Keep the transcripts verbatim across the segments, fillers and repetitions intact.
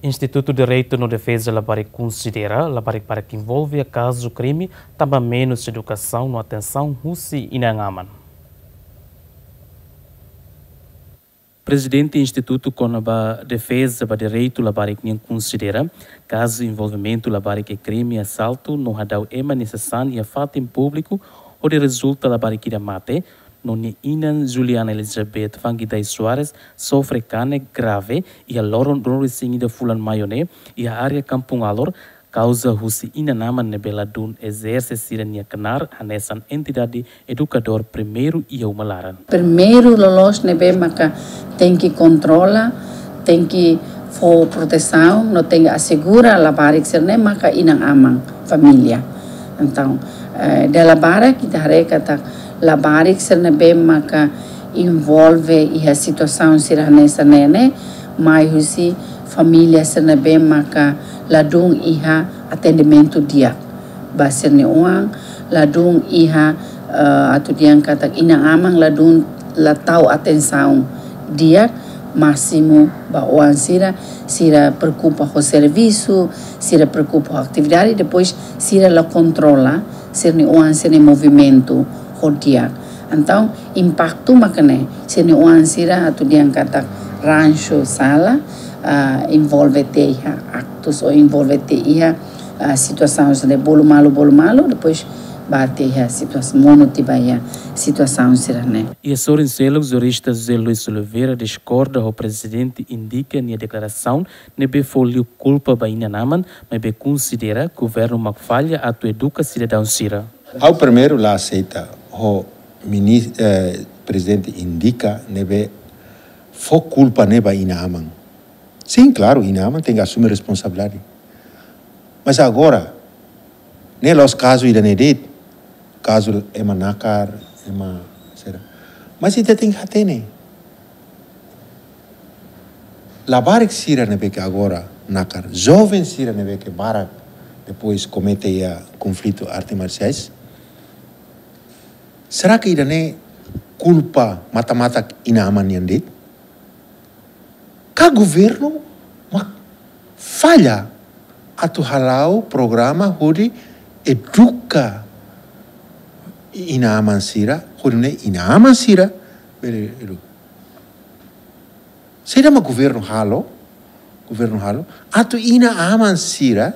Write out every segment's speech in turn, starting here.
Institutu Direitu no Defeza labarik konsidera labarik barak envolve iha kazu krime, tanba menus edukasaun no atensaun husi inan-aman. Prezidente Institutu kona-ba Defeza ba Direitu Labarik nian konsidera kazu envolvimentu labarik iha krime asaltu no hadau ema nia sasán iha fatin públiku, hodi rezulta labarik ida mate, no nia inan Juliana Elizabeth Fangidai Soares sofre kanek grave iha loron ruanulu-resin-ida fulan Maiu ne'e, iha área Kampung Alor, kauza husi inan-aman ne'ebé ladún ezerse sira-nia knaar hanesan entidade edukadór primeiru iha uma laran. Primeiru loloos ne'ebé maka tenke kontrola, tenke fó protesaun, no tenke asegura labarik sira-ne'e maka inan-aman, família. Entaun, eh, dala barak ita haree katak labarik sira ne'ebé maka envolve iha situasaun sira hanesan ne'e ne'e, mai husi família sira ne'ebé maka ladún iha atendimentu di'ak ba sira-nia oan, ladún iha, eh, atu dehan katak inan-aman ladún la tau atensaun di'ak másimu ba oan sira, sira preokupa ho servisu, sira preokupa ho atividade, depois sira la kontrola sira-nia oan sira-nia movimentu ho di'ak. Entaun, impaktu maka ne'e, sira-nia oan sira atu dehan katak ransu sala, ah, envolve tiha iha aktus ou envolve tiha iha, ah, situasaun sira bolu malu, bolu malu, depois ba tiha iha situasaun, monu tiha ba iha situasaun sira-ne'e. Iha sorin seluk, jurista José Luis Oliveira diskorda ho Prezidente INDICA nia deklarasaun ne'ebé fó liu kulpa ba inan-aman, maibé konsidera governu mak falla atu eduka sidadaun sira. Ha'u primeiru la aseita ho minis-, eh, Prezidente INDICA ne'ebé fó kulpa ne'e ba inan-aman. Sin, klaru, inan-aman tenke asume responsabilidade. Mas agora, ne'e la'ós kazu ida-ne'e de'it, kazu ema nakar, ema sira. Mas ita tenke hatene. Labarik sira ne'ebé ke agora nakar, joven sira ne'ebé ke barak, depois komete iha konflitu arte marsiais. Será ke ida-ne'e kulpa matan-matan inan-aman nian de'it? Ka governu mak falla atu hala'o programa hodi eduka inan-aman sira, hodi nune'e inan-aman sira bele eduka. Saida mak governu halo, governu halo, atu inan-aman sira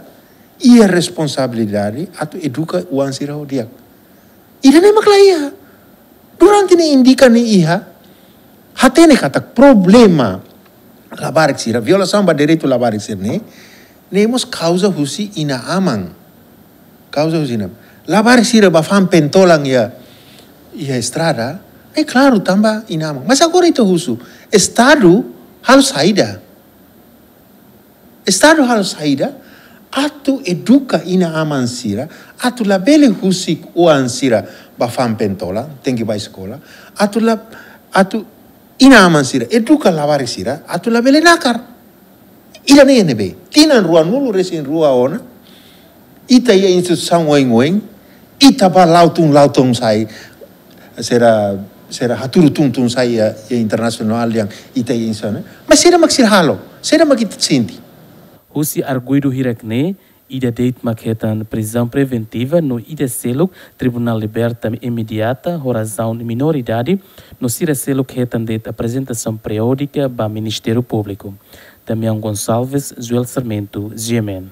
iha responsabilidade atu eduka oan sira ho di'ak. Ida-ne'e mak la iha. Durante ne'e INDICA ne'e iha, hatene katak problema labarik sira, violasaun ba direitu labarik sira-ne'e, ne'e mós kauza husi inan-aman. Kauza husi inan-aman. Labarik sira bá fa'an pentolan iha, iha estrada, ne'e klaru tanba inan-aman. Mas agora ita husu, Estadu halo saida? Estadu halo saida atu eduka inan-aman sira, atu labele husik oan sira bá fa'an pentolan, tenke bá eskola, atu la, atu inan-aman sira eduka labarik sira, atu labele nakar. Ida-ne'e ne'ebé, tinan ruanulu-resin-rua ona, ita iha instituisaun oioin, ita bá la'o tun, la'o tun sai, sira, sira hatudu tun, tun sai iha, iha internasionál yang ita iha instituisaun ne'e. Mas saida mak sira halo, saida mak ita sente? Husi arguidu hirak-ne'e, ida de'it mak hetan prizaun preventiva no ida seluk tribunál liberta imediata ho razaun minoridade, no sira seluk hetan de'it aprezentasaun periódika ba Ministériu Públiku. Damião Gonçalves, Joel Sarmento, G M N.